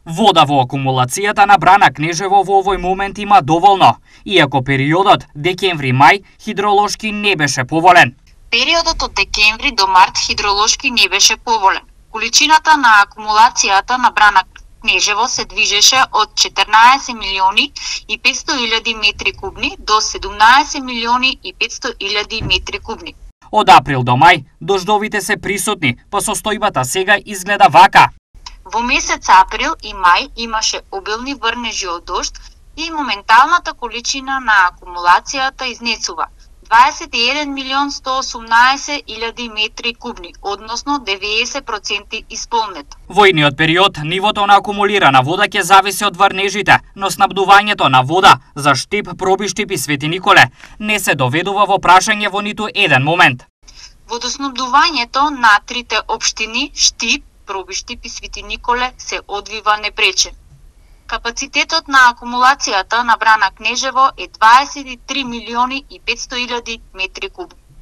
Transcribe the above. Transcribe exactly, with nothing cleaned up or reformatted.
Вода во акумулацијата на Брана Кнежево во овој момент има доволно, иако периодот декември-мај хидролошки не беше поволен. Периодот од декември до март хидролошки не беше поволен. Количината на акумулацијата на Брана Кнежево се движеше од четрнаесет милиони и петсто илјади метри кубни до седумнаесет милиони и петсто илјади метри кубни. Од април до мај дождовите се присутни, па состојбата сега изгледа вака. Во месец април и мај имаше обилни врнежи од дожд и моменталната количина на акумулацијата изнесува дваесет и еден милион сто осумнаесет илјади метри кубни, односно деветдесет проценти исполнет. Во идниот период нивото на акумулирана вода ќе зависи од врнежите, но снабдувањето на вода за Штип, Пробиштип и Свети Николе не се доведува во прашање во ниту еден момент. Водоснабдувањето на трите општини Штип, Пробиштип и Свети Николе се одвива непречен. Капацитетот на акумулацијата на Брана Кнежево е дваесет и три милиони и петсто илјади метри кубни.